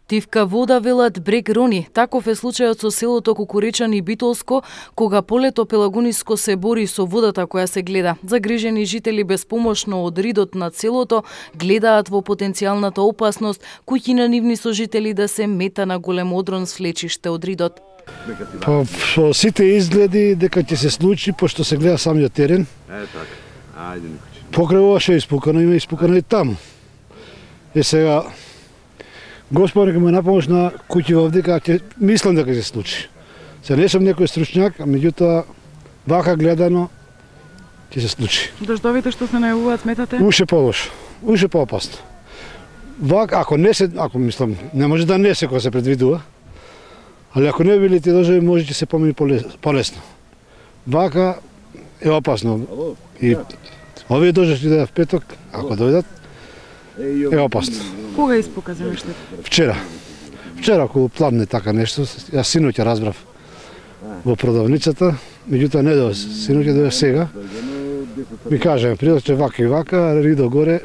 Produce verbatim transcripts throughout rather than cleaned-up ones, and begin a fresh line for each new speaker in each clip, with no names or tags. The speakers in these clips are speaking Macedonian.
Тивка вода, велат брег рони. Таков е случајот со селото Кукуричан и Битолско, кога полето Пелагониско се бори со водата која се гледа. Загрижени жители безпомошно од ридот над селото гледаат во потенцијалната опасност куќи на нивни сожители да се мета на голем одрон свлечиште од ридот.
По, по сите изгледи дека ќе се случи, пошто се гледа самиот терен.
Е, така. Ајде, Никочи.
Покрај ова ше испукано, има испукано и таму. Е сега, Господ нека ме напомош на куќи во дека ќе мислам дека ќе се случи. Се не сум некој стручњак, а меѓутоа вака гледано ќе се случи.
Дождовите што се најавуваат сметате?
Уште полошо, уште поопасно. Вака, ако не се, ако мислам, не може да не се кога се предвидува, али ако не били ти дождови, може ќе се помени полесно. Вака е опасно. И овие дождови што дојдат в петок, ако дојдат, е опасно.
Кога испука земјиштето?
Вчера. Вчера околу пладне така нешто, јас синоќа разбрав во продавницата, меѓутоа не дојде синоќа, дојде сега. Ми кажа, придоше вака и вака, ридо горе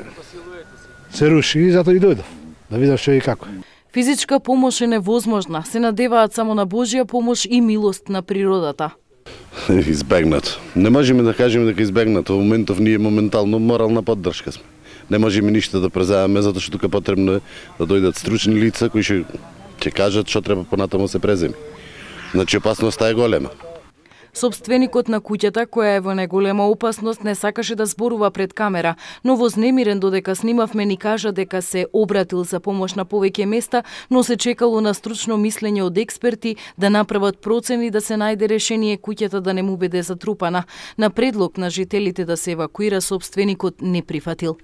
се руши и затоа и дојдов, да видам што и како.
Физичка помош е невозможна, се надеваат само на Божја помош и милост на природата.
Избегнато. Не можеме да кажеме дека избегнато. Во моментов ние моментално морална поддршка сме. Не можеме ништо да преземеме, затоа што тука потребно е да дојдат стручни лица кои ќе ќе кажат што треба понатаму се преземи. Значи опасноста е голема.
Собственикот на куќата, која е во најголема опасност, не сакаше да зборува пред камера, но вознемирен додека снимавме ни кажа дека се обратил за помош на повеќе места, но се чекало на стручно мислење од експерти да направат процени да се најде решение куќата да не му биде затрупана. На предлог на жителите да се евакуира, собственикот не прифатил.